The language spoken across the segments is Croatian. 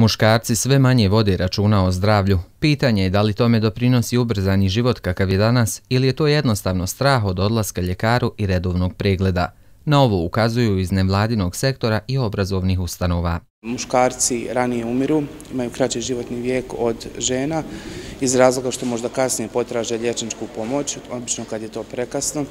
Muškarci sve manje vode računa o zdravlju. Pitanje je da li tome doprinosi ubrzani život kakav je danas ili je to jednostavno strah od odlaska ljekaru i redovnog pregleda. Na ovo ukazuju iz nevladinog sektora i obrazovnih ustanova. Muškarci ranije umiru, imaju kraći životni vijek od žena iz razloga što možda kasnije potraže liječničku pomoć, obično kad je to prekasno.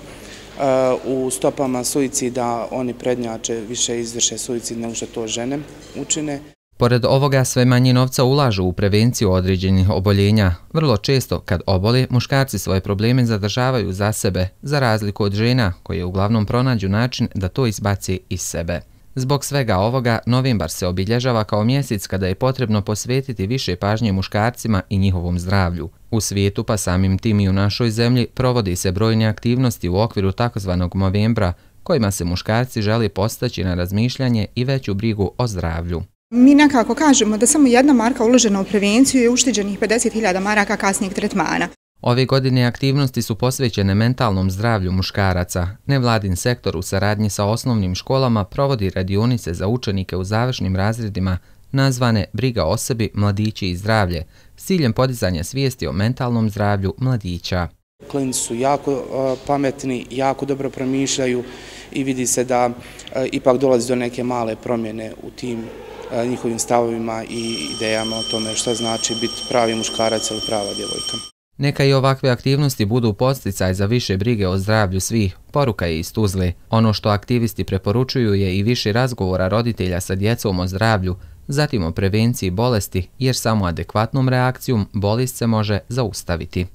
U stopama suicida oni prednjače, više izvrše suicid nego što to žene učine. Pored ovoga sve manje novca ulažu u prevenciju određenih oboljenja. Vrlo često kad obole, muškarci svoje probleme zadržavaju za sebe, za razliku od žena koje uglavnom pronađu način da to izbaci iz sebe. Zbog svega ovoga, novembar se obilježava kao mjesec kada je potrebno posvetiti više pažnje muškarcima i njihovom zdravlju. U svijetu, pa samim tim i u našoj zemlji, provodi se brojne aktivnosti u okviru takozvanog Movembra, kojima se muškarci žele postaći na razmišljanje i veću brigu o zdravlju. Mi nekako kažemo da samo 1 marka uložena u prevenciju je ušteđenih 50.000 maraka kasnijeg tretmana. Ove godine aktivnosti su posvećene mentalnom zdravlju muškaraca. Nevladin sektor u saradnji sa osnovnim školama provodi radionice za učenike u završnim razredima nazvane Briga o sebi, mladići i zdravlje, s ciljem podizanja svijesti o mentalnom zdravlju mladića. Klinci su jako pametni, jako dobro promišljaju i vidi se da ipak dolazi do neke male promjene u tim njihovim stavovima i idejama o tome što znači biti pravi muškarac ili prava djevojka. Neka i ovakve aktivnosti budu podsticaj za više brige o zdravlju svih, poruka je iz Tuzle. Ono što aktivisti preporučuju je i više razgovora roditelja sa djecom o zdravlju, zatim o prevenciji bolesti, jer samo adekvatnom reakcijom bolest se može zaustaviti.